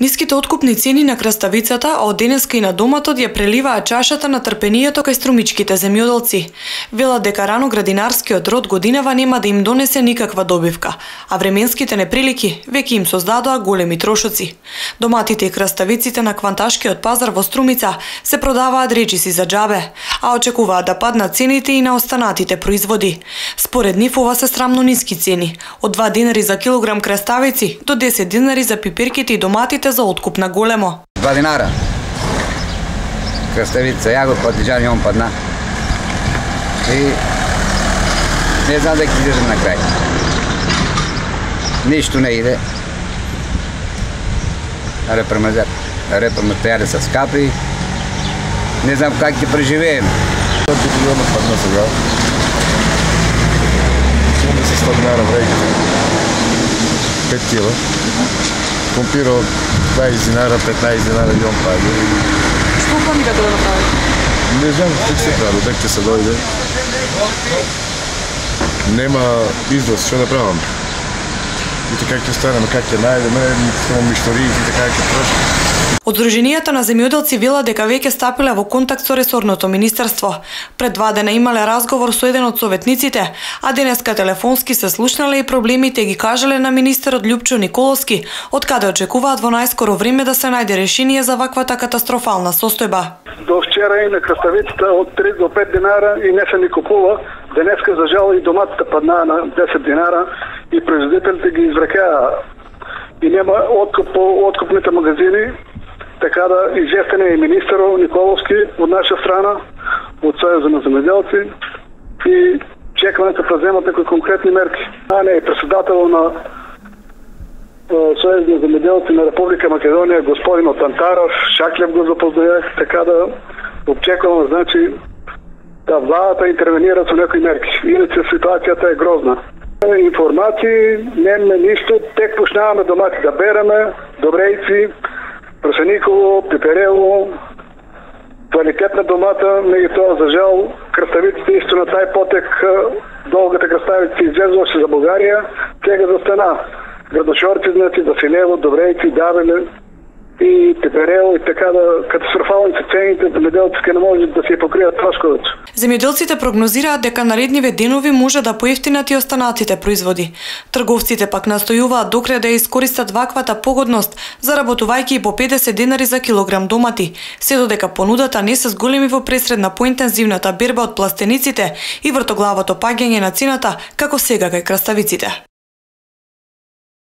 Ниските откупни цени на краставицата, а од денеска и на доматот ја преливаат чашата на трпението кај струмичките земјоделци. Велат дека рано-градинарскиот род годинава нема да им донесе никаква добивка, а временските неприлики веќе им создадоа големи трошоци. Доматите и краставиците на кванташкиот пазар во Струмица се продаваат речиси за џабе, а очекуваат да паднат цените и на останатите производи. Според нив ова се срамно ниски цени, од 2 динари за килограм краставици до 10 динари за пиперките и доматите за откуп на големо. 2 динара. Краставица, јагод, патиџани, он падна. И не знам дека ќе излезем на крај. Ништо не иде. Репроматеријали се скапи. Не знам как ќе преживееме. 5 милиона падна сега. 100 динара врегите. 5 кила. Компира од 20 динара, 15 динара и он прави. Што планирате да направите? Не знам како се прави, дек ќе се дојде. Нема износ, што направам? Ите как ќе станеме, как ќе најдеме, само мишториите, така ќе троши. Од Сдруженијата на земјоделци велат дека веќе стапиле во контакт со ресорното министерство. Пред 2 дена имале разговор со еден од советниците, а денеска телефонски се слушнале и проблемите ги кажале на министерот Љупчо Николовски, од каде очекуваат во најскоро време да се најде решение за ваквата катастрофална состојба. До вчера и на краставицата од 3 до 5 динара и не се ни купува. Денеска за жал и доматите паднаа на 10 динара и производителите ги изврекаа. И нема откуп по откупните магазини. Така да известен е и министерот Николовски од наша страна, од Сојузот на земјоделци и чекаме да преземат некои конкретни мерки. А не, председател на Сојузот на земјоделци на Република Македонија, господин Тантаров, Шаклев го запознаев, така да очекуваме, значи, да владата интервенира со некои мерки. Иначе ситуацијата е грозна. Информации, нема ништо, тек почнаваме домати да береме, добрејци, прашениково, пиперево, квалитетна домата, меѓутоа за жал краставиците исто на тај потек, долгата краставица излезуваше за Бугарија, сега застана. Градошорци, значи, Василево, Добрејци, Давеле и Пиперево и така да катастрофални се цените, земјоделците не може да се покријат трошковите. Земјоделците прогнозираат дека наредниве денови може да поевтинат и останатите производи. Трговците пак настојуваат докрај да ја искористат ваквата погодност, заработувајќи и по 50 денари за килограм домати, се додека понудата не се зголеми во пресред на поинтензивната берба од пластениците и вртоглавото паѓање на цената, како сега кај краставиците.